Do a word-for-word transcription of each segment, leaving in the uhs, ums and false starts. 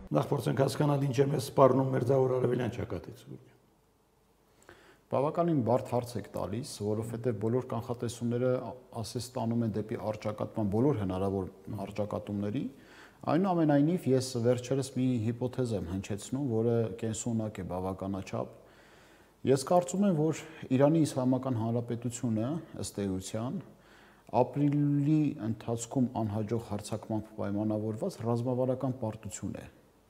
Նախ փորձենք հասկանալ ինչ է մեզ սպառնում մերձավոր արևելյան ճակատից։ Բավականին բարդ հարց եք տալիս, որովհետև բոլոր կանխատեսումները ասես տանում են դեպի առճակատման բոլոր հնարավոր առճակատումների։ Այնուամենայնիվ ես վերջերս մի հիպոթեզ եմ հնչեցնում, որը կենսունակ է բավականաչափ։ Ես կարծում եմ, որ Իրանի Իսլամական Հանրապետությունը ըստ էության ապրիլի ընթացքում անհաջող հարձակմամբ պայմանավորված ռազմավարական պարտություն է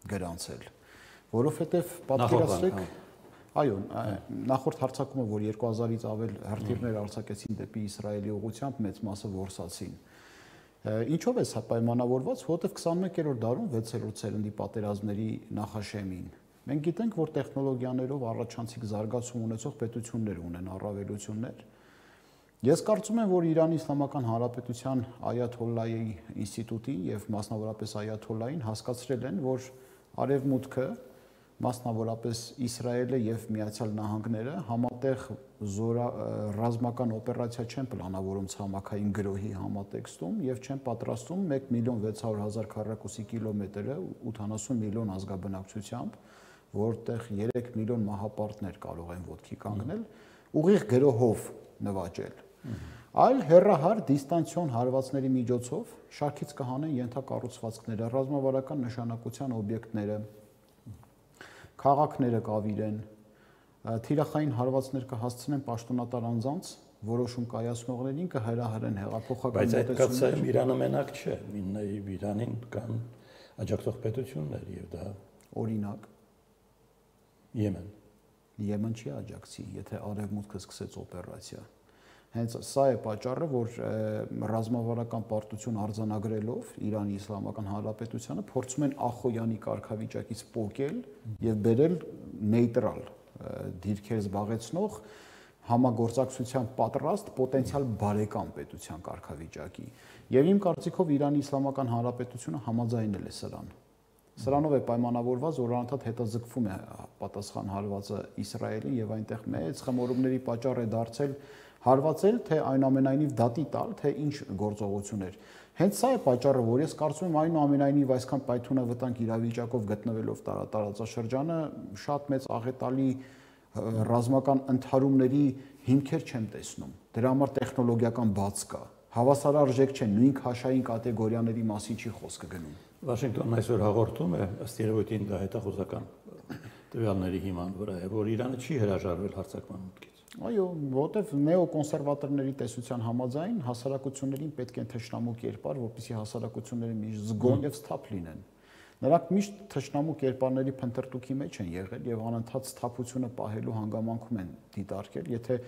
գրանցել, որովհետև պատկերացրեք, այո, նախորդ հարձակումը, որ երկու հազարից ավել հրթիռներ արձակեցին դեպի Իսրայելի ուղղությամբ, մեծ մասը որսացին։ Ինչով է սա պայմանավորված, որովհետև քսանմեկերորդ դարում վեցերորդ սերնդի պատերազմների նախաշեմին մենք գիտենք, որ տեխնոլոգիաներով առաջանցիկ զարգացում ունեցող պետություններ ունեն առավելություններ։ Ես կարծում եմ, որ Իրանի Իսլամական Հանրապետության Այաթոլլայի ինստիտուտի եւ մասնավորապես Այաթոլլային հասկացրել են, որ Արևմուտքը, մասնավորապես Իսրայելը եւ Միացյալ Նահանգները համատեղ ռազմական օպերացիա չեն պլանավորում ցամաքային գրոհի համատեքստում եւ չեն պատրաստում մեկ միլիոն վեց հարյուր հազար քառակուսի կիլոմետրը ութանասուն միլիոն ազգաբնակչությամբ, որտեղ երեք միլիոն մահապարտներ կարող են ոտքի կանգնել, ուղիղ գրոհով նվաճել։ Այլ հեռահար դիստանցիոն հարվածների միջոցով շարքից կհանեն ենթակառուցվածքները, ռազմավարական նշանակության օբյեկտները, քաղաքները կավիրեն, թիրախային հարվածներ կհասցնեն պաշտոնատար անձանց, որոշում կայացնողներին, կհրահրեն հեղափոխական մոտեցումներ։ Բայց Իրանը մենակ չէ, Իրանին կան աջակցող պետություններ եւ դա օրինակ Եմեն։ Եմեն չի աջակցի, եթե Արևմուտքը սկսեց օպերացիա։ Հենց սա է պատճառը, որ ռազմավարական պարտություն արձանագրելով Իրանի Իսլամական Հանրապետությանը փորձում են Ախոյանի կարգավիճակից պոկել եւ բերել նեյտրալ դիրքեր զբաղեցնող համագործակցության պատրաստ պոտենցիալ բարեկամ պետության կարգավիճակի։ Եվ իմ կարծիքով Իրանի Իսլամական Հանրապետությունը համաձայնել է սրան։ Սրանով է պայմանավորված, որ անընդհատ հետաձգվում է պատասխան հարվածը Իսրայելին եւ այնտեղ մեծ խմորումների պատճառ է դարձել հարվածել, թե այնուամենայնիվ դատի տալ, թե ինչ գործողություններ։ Հենց սա է պատճառը, որ ես կարծում եմ այնուամենայնիվ այսքան պայթունավտանգ իրավիճակով գտնվելով տարածաշրջանը շատ մեծ աղետալի ռազմական ընդհարումների հիմքեր չեմ տեսնում։ Դրա համար տեխնոլոգիական բաց կա։ Հավասարարժեք չէ, նույն քաշային կատեգորիաների մասին չի խոսքը գնում։ Վաշինգտոնն այսօր հաղորդում է, ըստ երևույթին դա հետախուզական տվյալների հիման վրա է, որ Իրանը չի հրաժարվել հարձակման մուտքից։ Այո, որտեվ նեոկոնսերվատորների տեսության համաձայն հասարակություններին պետք է թշնամու կերպար, որպեսզի հասարակությունները միշտ զգոն եւ սթափ լինեն։ Նրանք միշտ թշնամու կերպարների փնտրտուքի մեջ են եղել եւ անընդհատ սթափությունը պահելու հանգամանքում են դիտարկել, եթե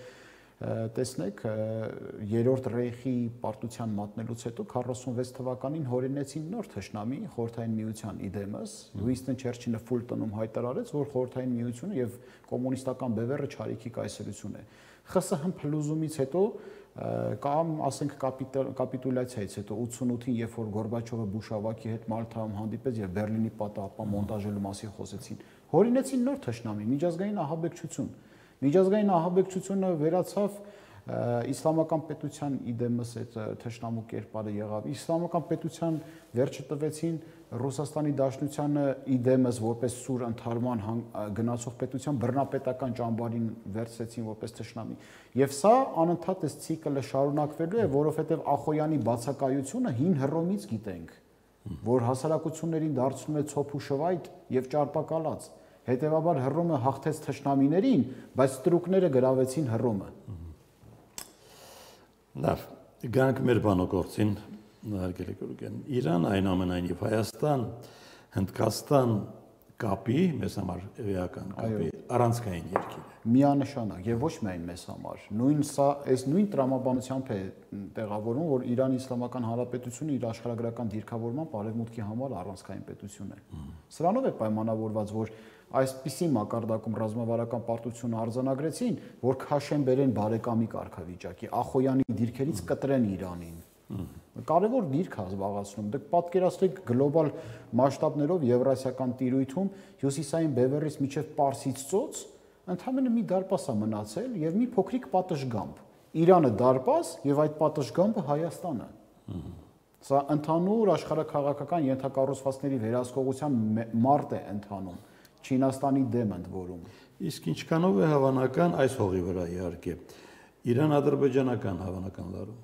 տեսնեք երրորդ ռեյխի պարտության մատնելուց հետո քառասունվեց թվականին հորինեցին նոր թշնամի Խորհրդային Միության իդեմս, Ուինստոն Չերչիլը ֆուլ տոնում հայտարարեց, որ Խորհրդային Միությունը եւ կոմունիստական բևեռը չարիքի կայսրություն է։ ԽՍՀՄ փլուզումից հետո կամ ասենք կապիտուլյացիայից հետո ութսունութին, երբ որ Գորբաչովը Բուշավակի հետ Մալթայում հանդիպեց եւ Բերլինի պատահապան մոնտաժելու մասին խոսեցին, հորինեցին նոր թշնամի, միջազգային ահաբեկչություն։ Միջազգային ահաբեկչությունը վերացավ իսլամական պետության իդեմս այդ թշնամու կերպարը եղավ։ Իսլամական պետության վերջը տվեցին Ռուսաստանի Դաշնությանը իդեմս որպես սուր ընդհարման գնացող պետության բռնապետական ճամբարին վերցրեցին որպես թշնամի։ Եվ սա անընդհատ այս ցիկլը շարունակվելու է, որովհետև Ախոյանի բացակայությունը հին Հռոմից գիտենք, որ հասարակություններին դարձնում է ցոփ ու շվայտ եւ ճարպակալած։ Հետևաբար Հռոմը հաղթեց թշնամիներին, բայց ստրուկները գրավեցին Հռոմը։ Լավ, գանք մեր բանօգործին, հարգելի գորգեն, Իրան, այնուամենայնիվ Հայաստան, Հնդկաստան կապի, մեզ համար էական կապի, առանցքային երկիր է։ Միանշանակ եւ ոչ միայն մեզ համար։ Նույն սա, այս նույն տրամաբանությամբ է տեղավորվում, որ Իրանի Իսլամական Հանրապետությունը իր աշխարհագրական դիրքավորման Արևմուտքի համար առանցքային պետություն է։ Սրանով է պայմանավորված, որ այսպիսի մակարդակում ռազմավարական պարտություն արձանագրեցին, որ քաշեն բերեն բարեկամի կարգավիճակի, Ախոյանի դիրքերից կտրեն Իրանին։ Կարևոր դիրք է զբաղեցնում։ Դուք պատկերացրեք գլոբալ մասշտաբներով եվրասիական տիրույթում հյուսիսային բևեռից մինչև Պարսից ծոց ընդհանրապես մի դարպաս է մնացել եւ մի փոքրիկ պատշգամբ։ Իրանը դարպաս եւ այդ պատշգամբը Հայաստանը։ Սա ընդհանուր աշխարհաքաղաքական ենթակառուցվածքների վերահսկողության մարդ է ընթանում, Չինաստանի դեմ ընդ որում։ Իսկ ինչքանով է հավանական այս հողի վրա իհարկե Իրան-ադրբեջանական հավանական լարում։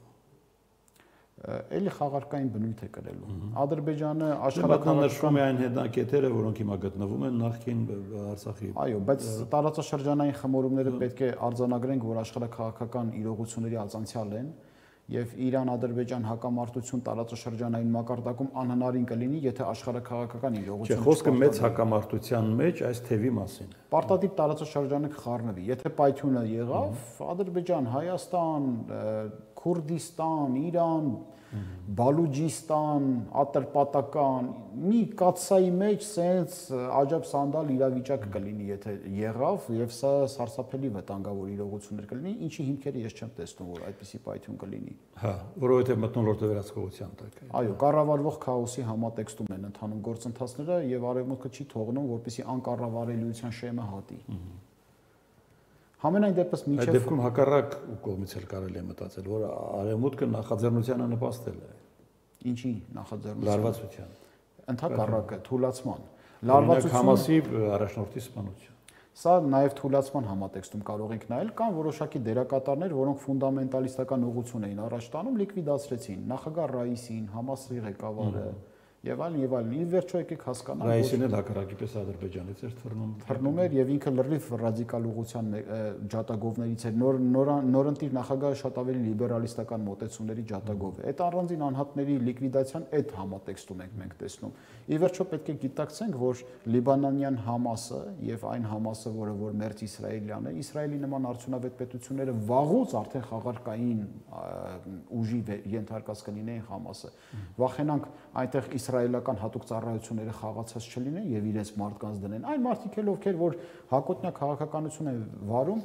Էլի խաղարկային բնույթ է կրելու։ Ադրբեջանը աշխարհական նշվում է այն հետնակետերը, որոնք հիմա գտնվում են նախկին Արցախի։ Այո, բայց տարածաշրջանային խմորումները պետք է արձանագրենք, որ աշխարհաքաղաքական իրողությունների ածանցյալ են, եւ Իրան-Ադրբեջան հակամարտություն տարածաշրջանային մակարդակում անհնարին կլինի, եթե աշխարհաքաղաքական իրողություն։ Չէ, խոսքը մեծ հակամարտության մեջ այս թևի մասին է։ Պարտադիր տարածաշրջանը կխառնվի։ Եթե պայթյունը եղավ, Ադրբեջան, Հայաստան, Քուրդիստան, Իրան, Բալուջիստան, Ատրպատական մի կաթսայի մեջ սենց աջաբ սանդալ իրավիճակ կլինի, եթե եղավ, եւ սա սարսափելի վտանգավոր իրողություններ կլինի, ինչի հիմքերը ես չեմ տեսնում, որ այդպիսի պայթյուն կլինի։ Հա, որովհետեւ մտնոլորտը վերահսկողության տակ է։ Այո, կառավարվող քաոսի համատեքստում են ընթանում գործընթացները եւ արևմուտքը չի թողնում, որպեսզի անկառավարելիության շեմը հատի։ Համենայն դեպս միջև Այդ դեպքում հակառակ կողմից էլ կարելի է մտածել, որ արևմուտքը նախաձեռնությանը նպաստել է։ Ինչի նախաձեռնության։ Լարվածության։ Ընդհակառակը թուլացման։ Լարվածությունը Համասի առաջնորդի սպանություն։ Սա նաև թուլացման համատեքստում կարող ենք նայել, կան որոշակի դերակատարներ, որոնք ֆունդամենտալիստական ուղղություն էին առաջ տանում, լիկվիդացրեցին նախագահ Ռաիսին, Համասի ղեկավարը եւ այլն եւ այլն։ Ի վերջո եկեք հասկանանք, Ռաիսին էլ հակառակի պես Ադրբեջանից էր թռնում։ Թռնում էր եւ ինքը լրիվ ռադիկալ ուղղության ջատագովներից էր։ Նոր նորընտիր նախագահը շատ ավելի լիբերալիստական մոտեցումների ջատագով է։ Այդ առանձին անհատների լիկվիդացիան այդ համատեքստում ենք մենք տեսնում։ Ի վերջո պետք է գիտակցենք, որ Լիբանանյան Համասը եւ այն Համասը, որը որ մերձ իսրայելյան է, Իսրայելի նման արդյունավետ պետությունները վաղուց արդեն խաղարկային ուժի ենթարկած կլինեին Համասը։ Վախենանք այնտեղ իսրայելական հատուկ ծառայությունները խաղացած չլինեն եւ իրենց մարդկանց դնեն։ Այն մարդիկ էլ ովքեր որ հակոտնյա քաղաքականություն են վարում,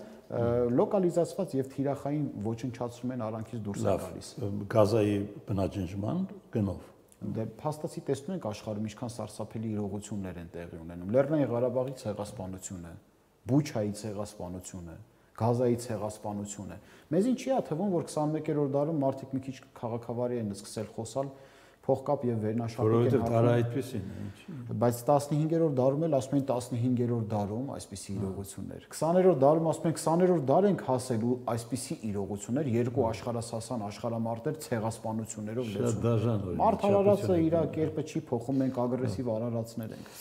լոկալիզացված եւ թիրախային ոչնչացում են արանքից դուրս գալիս։ Գազայի բնաջնջման գնով։ Դե փաստացի տեսնում ենք աշխարհում ինչքան սարսափելի իրողություններ են տեղի ունենում։ Լեռնային Ղարաբաղի ցեղասպանությունը, Բուչայի ցեղասպանությունը, Գազայի ցեղասպանությունը։ Մեզին չի աթվում, որ քսանմեկերորդ դարում մարդիկ մի քիչ քաղաքավարի են սկսել խոսալ փողկապ եւ վերնաշապիկ են հաղթում, այդպեսին է, բայց տասնհինգերորդ դարում էլ ասում են տասնհինգերորդ դարում այսպիսի իրողություններ։ քսաներորդ դարում ասում են քսաներորդ դար ենք հասել ու այսպիսի իրողություններ, երկու աշխարհասասան աշխարհամարտեր ցեղասպանություններով լեցուն։ Մարդ արարածը իր կերպը չի փոխում, մենք ագրեսիվ արարածներ ենք։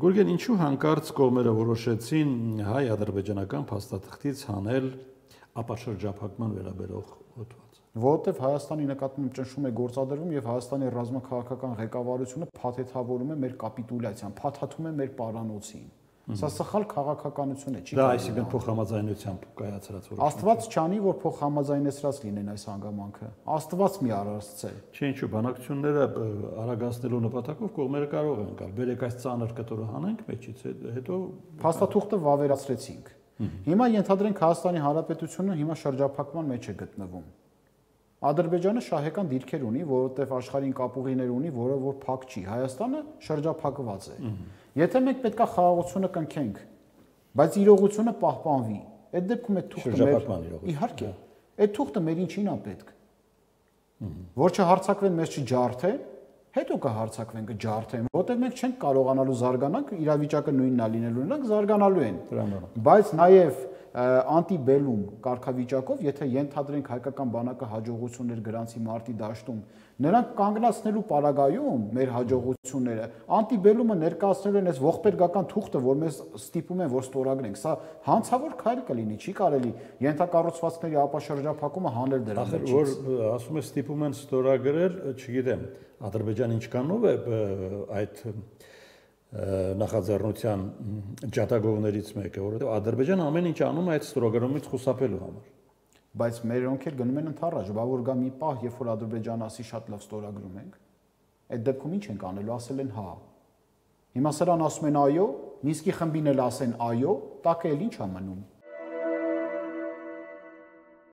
Գուրգեն, ինչու հանկարծ կողմերը որոշեցին հայ-ադրբեջանական փաստաթղթից հանել ապաշրջափակման վերաբերող հոդված։ Որովհետև Հայաստանի նկատմամբ ճնշում է գործադրվում եւ Հայաստանի ռազմաքաղաքական ղեկավարությունը փաթեթավորում է մեր կապիտուլյացիան, փաթաթում է մեր պարանոցին։ Սա սխալ քաղաքականություն է, չի դա այսինքն փոխհամաձայնությամբ կայացրած որոշում։ Աստված չանի, որ փոխհամաձայնեցրած լինեն այս հանգամանքը։ Աստված մի արարծե։ Չէ, ինչու բանակցությունները արագացնելու նպատակով կողմերը կարող են գալ։ Բերեք այս ծանր կտորը հանենք մեջից, հետո փաստաթուղթը վավերացրեցինք։ Հիմա ենթադրենք Հայաստանի Հանրապետությունը հիմա շրջափակման մեջ է գտնվում։ Ադրբեջանը շահեկան դիրքեր ունի, որովհետև աշխարհին կապուղիներ ունի, որը որ փակ չի։ Հայաստանը շրջափակված է։ Եթե մենք պետքա խաղաղությունը կնքենք, բայց իրողությունը պահպանվի, այդ դեպքում այդ թուղթը մեր իհարկե, այդ թուղթը մեր ինչին է պետք։ Որ չհարցակվեն, մեզ չջարդեն, հետո կհարցակվեն, կջարդեն, որտեղ մենք չենք կարողանալու զարգանանք, իրավիճակը նույնն է լինելու, նրանք զարգանալու են։ Բայց նաև անտիբելում կարգավիճակով, եթե ենթադրենք հայկական բանակը հաջողություններ գրանցի մարտի դաշտում, նրանք կանգնացնելու պարագայում մեր հաջողությունները անտիբելումը ներկայացնելու են այս ողբերգական թուղթը, որ մեզ ստիպում են, որ ստորագրենք։ Սա հանցավոր քայլ կլինի, չի կարելի ենթակառուցվածքների ապաշրջափակումը հանել դրա մեջ։ Որ ասում է ստիպում են ստորագրել, չգիտեմ, Ադրբեջանը ինչքանով է այդ նախաձեռնության ջատագովներից մեկը, որովհետև Ադրբեջանը ամեն ինչ անում է այդ ստորագրումից խուսափելու համար։ Բայց մերոնք էլ գնում են ընդառաջ, բա որ գա մի պահ, երբ որ Ադրբեջանը ասի շատ լավ ստորագրում ենք, այդ դեպքում ինչ ենք անելու, ասել են հա։ Հիմա սրան ասում են այո, Մինսկի խմբին էլ ասեն այո, տակը էլ ինչ է մնում։